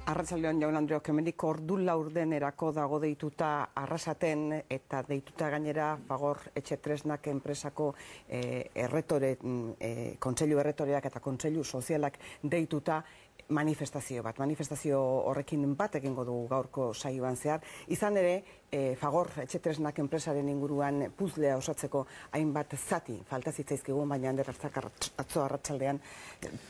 Arratsaldeon Jaun Andreok, hemendik ordu laurdenerako dago deituta Arrasaten eta deituta gainera Fagor Etxe Tresnak enpresako kontseilu erretoreak eta kontseilu sozialak deituta manifestazio bat. Manifestazio horrekin bat egingo dugu gaurko saioan zehar. Izan ere, Fagor Etxe Tresnak enpresaren inguruan puzlea osatzeko hainbat zati falta zitzaizkigu, baina Ander Arzak atzo arratsaldean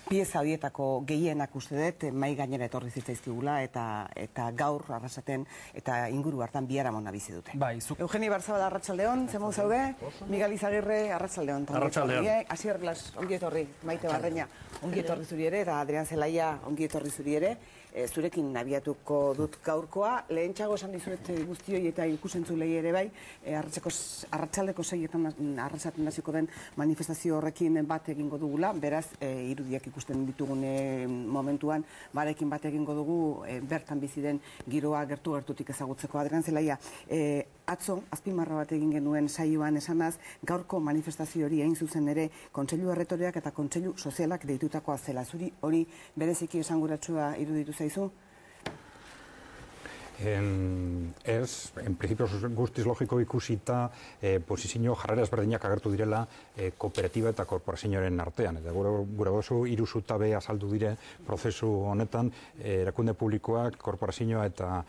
pieza horietako gehienak uste dut mai gainera etorri zitzaizkigula eta gaur Arrasaten eta inguru hartan biharamona bizi dute. Eugeni Barzabal, arratsaldeon, zemon zaude? Miguel Izagirre, arratsaldeon. Arratsaldeon. Asier Blas, ongi etorri, Maite Barreña, ongi etorri zuri ere, eta Adrian Zelaia, ongi etorri zuri ere. Zurekin abiatuko dut gaurkoa. Lehentxago esan dizuet guztioi eta ikusentzulei ere bai, arratsaldeko 6etan Arrasaten hasiko den manifestazio horrekin bat egingo dugula, beraz, irudiak ikusten ditugun momentuan, barekin bat egingo dugu, bertan bizi den giroa gertutik ezagutzeko. Adrian Zelaia, atzo, azpimarra bat egin genuen saioan esanaz, gaurko manifestazio hori hain zuzen ere kontseilu erretoreak eta kontseilu sozialak deitutakoa zela. Zuri hori bereziki esanguratsua iruditu zaizu? Ez, en principio guztiz logiko ikusita posizio jarrera ezberdinak agertu direla kooperatiba eta korporazioaren artean. Eta gure oso hiru zutabe azaldu dire prozesu honetan, erakunde publikoak, korporazioa eta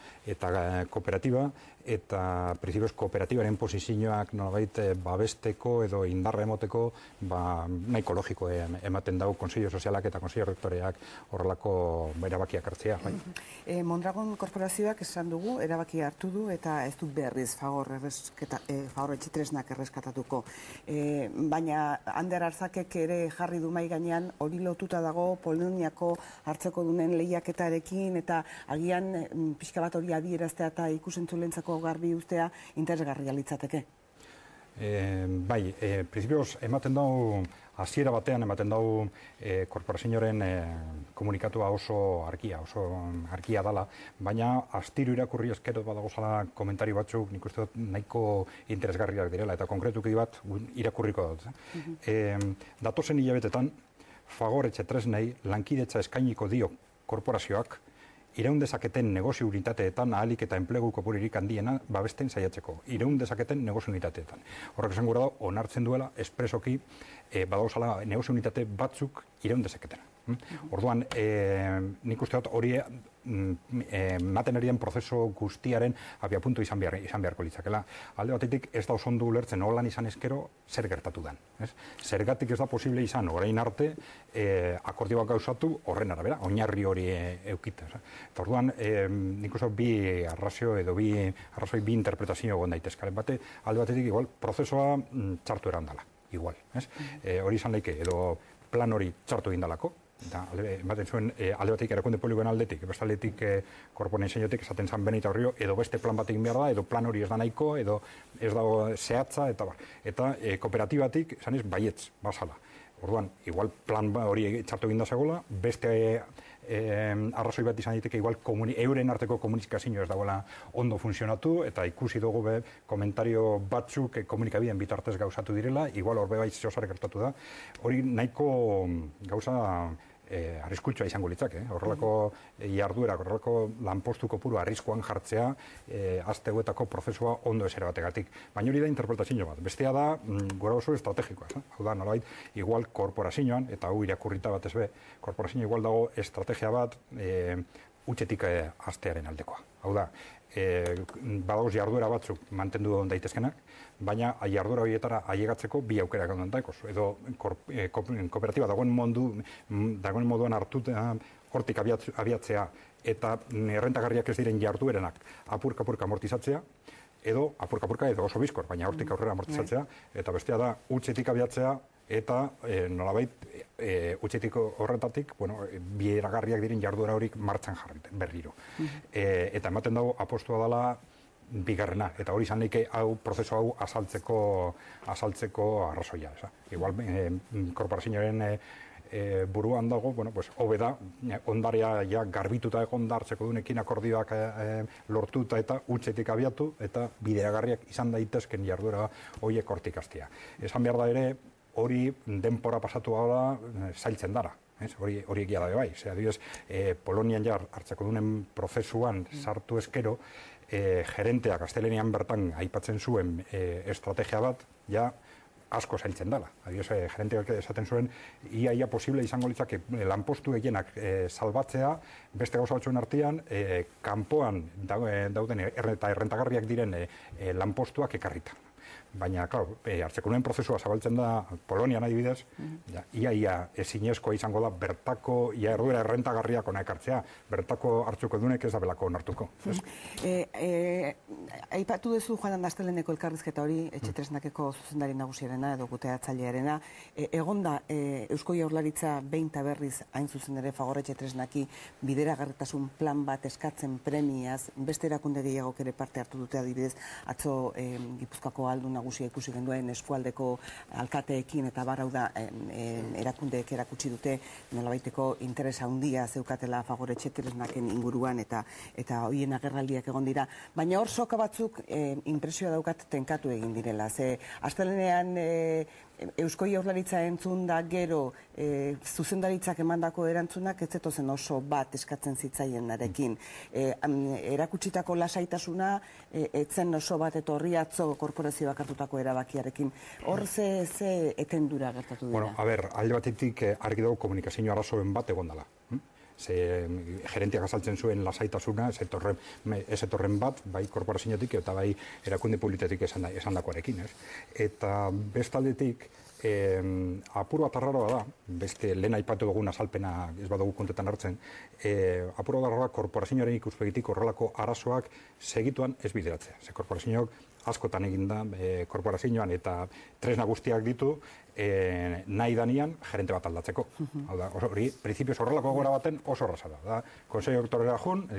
kooperatiba, eta principios kooperatibaren posizioak nolabait babesteko edo indarra emoteko nahiko logiko ematen dau kontseilu sozialak eta kontseilu rektoreak horrelako erabakiak hartzea. Mondragon korporazioak esan dugu, erabakia hartu du eta ez du berriz Fagor Etxe Tresnak erreskatatuko. Baina Ander Arzakek ere jarri du mahai gainean hori lotuta dago Poloniako hartzeko dunen lehiaketarekin eta agian pixka bat hori adieraztea eta ikusentzulentzako garbi ustea interesgarria litzateke. Bai, principios ematen dau, hasiera batean ematen dau korporazioaren komunikatua oso argia dala, baina astiro irakurri eskero badagozala komentario batzuk, nik uste dut nahiko interesgarriak direla, eta konkretuki bat irakurriko dut. Datozen hilabetetan, Fagor Etxe Tresnei lankidetza eskainiko dio korporazioak, iraun dezaketen negozio unitateetan ahalik eta enplegu kopuririk handiena babesten saiatzeko. Iraun dezaketen negozio unitateetan. Horrek esan gura da, onartzen duela, espresoki, badauzala negozio unitate batzuk iraun dezaketena. Orduan, nik uste dut hori maten erien prozeso guztiaren abiapuntu izan beharko litzakela. Alde batetik ez da oso ondo ulertzen holan izan ezkero zer gertatu den. Zergatik ez da posible izan orain arte akordioak gauzatu horren arabera, oinarri hori eukita. Eta orduan, nik uste dut bi arrazoi bi interpretazio egon daitezkaren bate, alde batetik igual prozesoa txartu erandala. Igual. Hori izan leike edo plan hori txartu egindalako, ematen zuen alde batetik erakunde publikoen aldetik, beste aldetik korporaziotik esaten zan Benita Horrio, edo beste plan bat egin behar da, edo plan hori ez da nahiko, edo ez dago zehatza, eta kooperatibatik esan ez baietz, bazala. Orduan, igual plan hori txartu egin da zegoela, beste arrazoi bat izan diteke igual euren arteko komunikazio ez dagoela ondo funtzionatu, eta ikusi dugu komentario batzuk komunikabideen bitartez gauzatu direla, igual horbe bai zeozare gertatu da. Hori nahiko gauza arriskutsua izango litzake. Horrelako jarduerak, horrelako lanpostu kopuru arriskuan jartzea azteguetako prozesua ondo esera bategatik. Baina hori da interpretazio bat. Bestea da, gora oso estrategikoa. Hau da, nolabait, igual korporazioan, eta hau irakurrita bat ez be, korporazio igual dago estrategia bat utxetik aztearen aldekoa. Hau da, badagoz jarduera batzuk mantendu daitezkenak, baina jarduera horietara ailegatzeko bi aukerak ondan daikoz. Edo kooperatiba dagoen moduan hartuta hortik abiatzea eta errentagarriak ez diren jarduerenak apurka amortizatzea, edo apurka edo oso bizkor, baina hortik aurrera amortizatzea, eta bestea da utxetik abiatzea, eta nolabait utxetik horretatik bieragarriak diren jarduera horik martxan jarriten, berriro. Eta ematen dago apostua dela bigarrena, eta hori izan leike prozesu hau azaltzeko arrazoia. Igual, korporazioaren buruan dago, hobe da, ondarea garbituta egon hartzeko dunekin akordioak lortuta eta utxetik abiatu, eta bideagarriak izan daitezken jarduera horiek hortik hastea. Esan behar da ere, hori denpora pasatu gara zailtzen dara. Hori egia da bai. Adibidez, Polonian ja hartzeko dunen prozesuan sartu eskero, gerenteak gaztelenian bertan aipatzen zuen estrategia bat, ja asko zailtzen dela. Adibidez, gerenteak esaten zuen, ia posible izango litzake lanpostu gehienak salbatzea, beste gauza batzuen artean, kanpoan dauden eta errentagarriak diren lanpostuak ekarrita. Baina, klaro, hartzeko nuen prozesua zabaltzen da Polonian adibidez, ia ezinezkoa izango da bertako, erduera errentagarriak ona ekartzea, bertako hartzuko dunek ez da belako onartuko. Aipatu duzu joan Asteleneko elkarrizketa hori, etxetresnakeko zuzendari nagusiarena edo kudeatzailearena, egonda Eusko Jaurlaritza behin eta berriz hain zuzen ere Fagor Etxetresnaki bideragarritasun plan bat eskatzen premiaz, beste erakunde gehiagok ere parte hartu dute adibidez, atzo Gipuzkoako aldun nagusia ikusi genduen eskualdeko alkateekin eta barrau da erakundeek erakutsi dute nolabaiteko interesa handia zeukatela Fagor Etxetresnaken inguruan eta hoien agerraldiak egon dira. Baina hor soka batzuk inpresioa daukat tenkatu egin direla. Ze astelenean Eusko Jaurlaritza entzun da gero zuzendaritzak emandako erantzunak ez zetozen oso bat eskatzen zitzaienarekin. Erakutsitako lasaitasuna etzen oso bat etorri atzo korporazioak hartutako erabakiarekin. Hor ze etendura gertatu dira? Bueno, alde batetik argi dago komunikazio arazoen bat egon dela. Gerentiak azaltzen zuen lasaitasuna, ez etorren bat, bai korporazioetik eta bai erakunde publikotik esandakoarekin. Eta bestaldetik, apur bat arraroa da, beste lehen aipatu dugun azalpena ez badugu kontetan hartzen, apur bat arraroa korporazioaren ikuspegitik horrelako arazoak segituan ez bideratzea. Ze korporazioak askotan egin da korporazioan eta tresna guztiak ditu nahi danian gerente bat aldatzeko. Hori, prinsipioz horrelako gora baten oso erraza da. Konseio doktorera jun,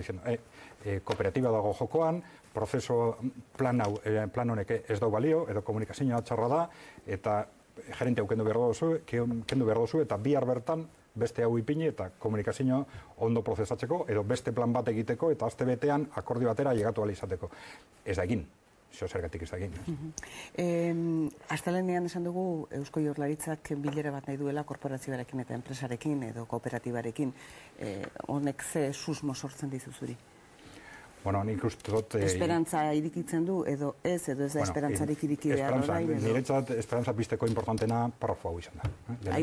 kooperatiba dago jokoan, prozeso plan honek ez dau balio, edo komunikazioa txarra da, eta gerente hau kendu behar dozu, eta bihar bertan beste hau ipini eta komunikazioa ondo prozesatzeko, edo beste plan bat egiteko, eta aste betean akordio batera llegatu ahal izateko. Ez da egin. Zergatik ez da egin. Astelenean esan dugu Eusko Jaurlaritzak bilera bat nahi duela korporazioarekin eta enpresarekin edo kooperatibarekin. Honek ze susmo sortzen dizu zuri? Bueno, nik uste dut... Esperantza irikitzen du edo ez da esperantzarik iriki behar orain? Niretzat esperantza pizteko importantena parrafo hau izan da.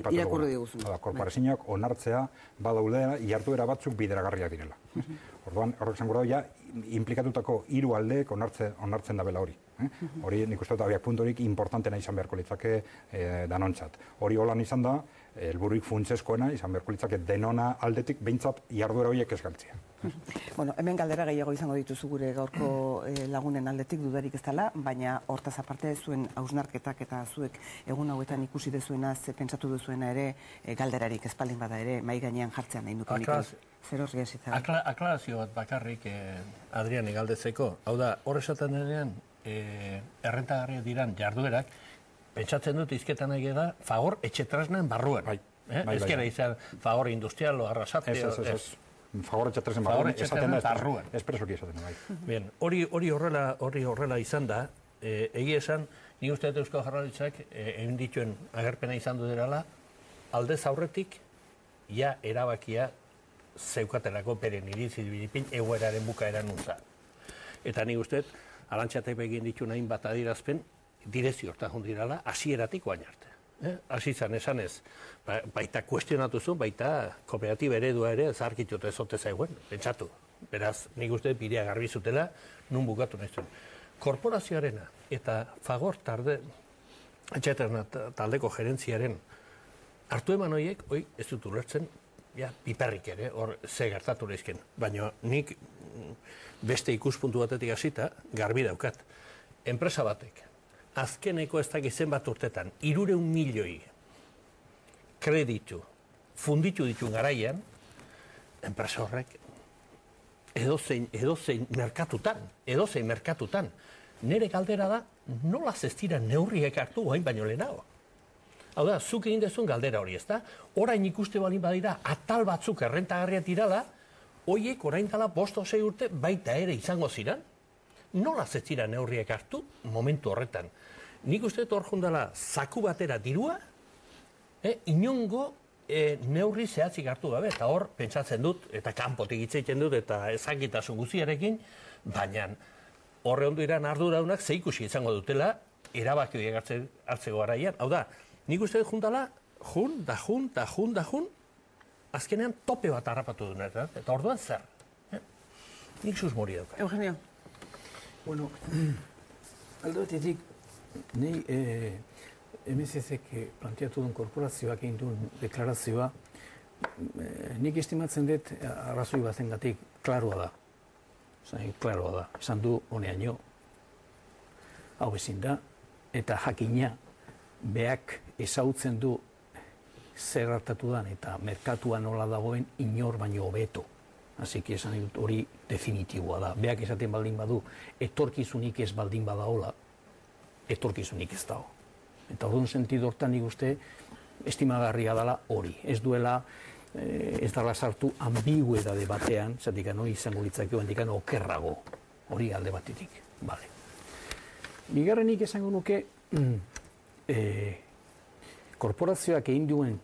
Irakurri diguzun. Korporazioak onartzea badaudela jarduera batzuk bideragarriak direla. Orduan, horrek zango da, implikatutako hiru aldeek onartzen dabela hori. Hori nik uste dut abiak puntorik importantena izan beharko litzake danontzat. Hori holan izan da, helbururik funtseskoena izan beharko litzake denona aldetik behintzat jarduera horiek ez galtzea. Bueno, hemen galdera gehiago izango dituzu gure gaurko lagunen aldetik dudarik ez dela, baina hortaz aparte zuen hausnarketak eta zuek egun hauetan ikusi dezuena, pentsatu duzuena ere, galderarik espaldin bada ere, mai gainean jartzean nahi nuke nik. Zer horri hasitza? Aklarazio bat bakarrik Adriani galdetzeko. Hau da, hor esaten denean, errentagarria diran jarduerak, pentsatzen dut izketan nahi da, Fagor Etxetresnaken barruan. Ezkera izan Fagor Industrial o Arrasate. Fagor Etxetresnaken barruan esaten da, espresoki esaten da. Bien, hori horrela izan da, egia esan, ni uste dut Eusko Jaurlaritzak egin dituen agerpena izan du derala, aldez aurretik, ja erabakia zeukatelako beren iritzi bilipin egoeraren bukaeran nuntza. Eta nik uste, Arantxatek egin ditu nahin bat adierazpen, direzio hortan jondirala, hasieratik oain arte. Hasi zan esanez, baita kuestionatu zuen, baita kooperatiba eredua ere zaharkitut ezote zaiguen, pentsatu. Beraz, nik uste bidea garbi zutela, nun bukatu nahi zuen. Korporazioarena eta Fagor taldeko gerentziaren hartu eman horiek, ez dut ulertzen, piperrik ere, hor ze gertatu lehizken. Baina nik beste ikuspuntu batetik hasita garbi daukat. Enpresa batek, azkeneko ez dakit zenbat urtetan, 300 milioi kreditu, funditu ditu garaian, enpresa horrek edozein merkatutan. Nere galdera da, nola ez dira neurriek hartu hain baino lehenago. Hau da, zuk egin dezun galdera hori, ez da? Orain ikuste balin badira, atal batzuk errentagarriak dirala, hoiek orain dela 5-6 urte baita ere izango ziren. Nola ez dira neurriek hartu momentu horretan? Nik uste dut hor jundala zaku batera dirua, inongo neurri zehatzik hartu gabe, eta hor, pentsatzen dut, eta kanpotik hitz egiten dut, eta ezakitasun guztiarekin, baina horre ondo iran arduraunak ze ikusi izango dutela, erabaki horiek hartzeko garaian. Hau da, nik uste dut juntala, jun, azkenean tope bat harrapatu duen, eta orduan zer? Nik susmori dauka. Eugenio. Bueno, alde batetik, nahi MSZ-ek planteatu duen korporazioak egin duen deklarazioa, nik estimatzen dut arrazoi batengatik klaroa da. Klaroa da. Esan du honeaino, hau ezin da, eta jakina beak ezautzen du zer hartatu dan eta merkatua nola dagoen inor baino hobeto. Así que esan dut hori definitiboa da. Beak esaten baldin badu, etorkizunik ez baldin badaola, etorkizunik ez dago. Eta orduan sentido hortan nik uste estimagarria dela hori. Ez duela, ez dela sartu ambiguedade batean, zatik izango litzakeo handikan okerrago, hori alde batetik. Vale. Bigarrenik esango nuke, korporazioak egin duen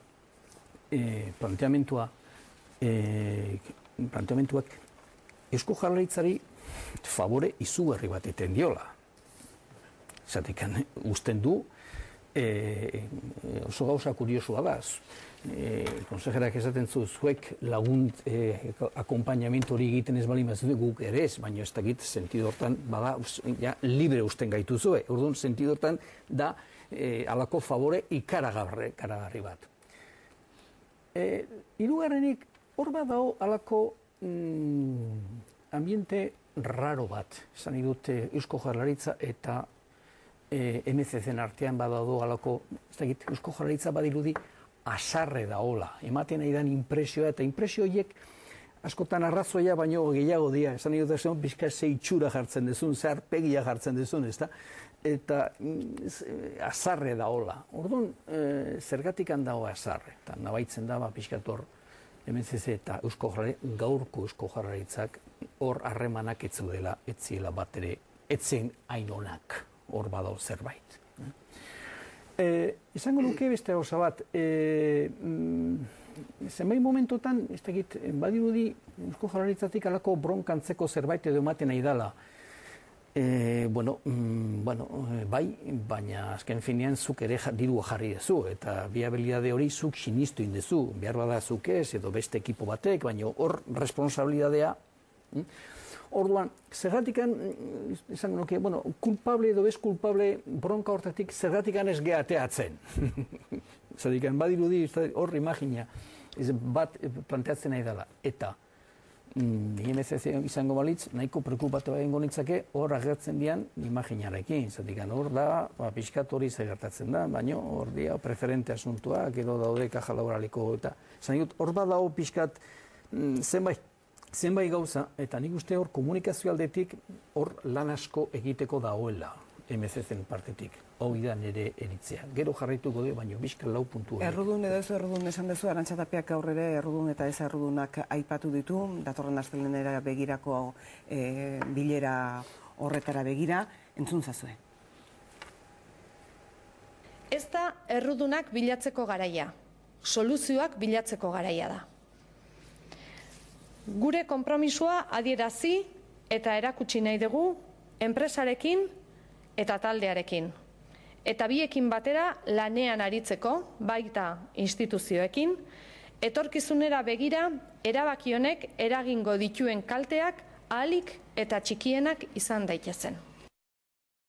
planteamentuak Eusko Jaurlaritzari favore izugarri bat eten diola. Zatik usten du, oso gauza kuriosua da. Konsejerak esaten zu, zuek lagunt akompainamentu hori egiten ez bali mazute guk ere ez, baina ez dakit sentido hortan, bada, libre usten gaitu zue. Orduan, sentido hortan da alako favore ikaragarri bat. Hirugarrenik, hor bat dago alako ambiente raro bat, esan dute Eusko Jaurlaritza eta MSZ-en artean badaude alako, ez dakit, Eusko Jaurlaritza badirudi asarre daola, ematen nahi dan impresioa, eta impresio horiek askotan arrazoia baino gehiago dira, esan dut zen, bizka ze itxura jartzen dezun, ze arpegia jartzen dezun, ezta? Eta asarre daola. Orduan, zergatik handago asarre, eta nabaitzen da, pixkator MSZ eta gaurko Eusko Jaurlaritzak hor harremanak ez ziela bat ere, etzen hainonak hor badao zerbait. Izango nuke beste gauza bat, zenbait momentotan, ez dakit, badirudi Eusko Jaurlaritzatik alako bronkantzeko zerbait edo ematen nahi dela. Bai, baina azken finean zuk ere dirua jarri dezu, eta viabilidade hori zuk sinistu indezu, behar bada zuk ez, edo beste ekipo batek, baina hor responsabilidadea. Orduan, zergatikan, esan nuke, kulpable edo ez kulpable bronka hortatik zergatikan ez gehateatzen. Zergatikan, badirudi, hor imagina, bat planteatzen nahi dela, eta MSZ izango balitz, nahiko preokupatu egingo nitzake, hor agertzen dian imaginarekin. Zergatikan, hor da, pixkat hori gertatzen da, baina hor dia preferente asuntuak, edo daude kaja laboraliko, eta hor badao pixkat zenbait gauza, eta nik uste hor komunikazio aldetik hor lan asko egiteko dagoela MSZ-en partetik. Hau da nire eritzea. Gero jarraituko du, baina bizkal lau puntu. Errudun edo ez errudun esan duzu, Arantxa Tapiak gaur ere errudun eta ez errudunak aipatu ditu, datorren astelehenera begirako bilera horretara begira, entzun zazue. Ez da errudunak bilatzeko garaia, soluzioak bilatzeko garaia da. Gure konpromisoa adierazi eta erakutsi nahi dugu enpresarekin eta taldearekin. Eta biekin batera lanean aritzeko, baita instituzioekin, etorkizunera begira erabaki honek eragingo dituen kalteak ahalik eta txikienak izan daitezen.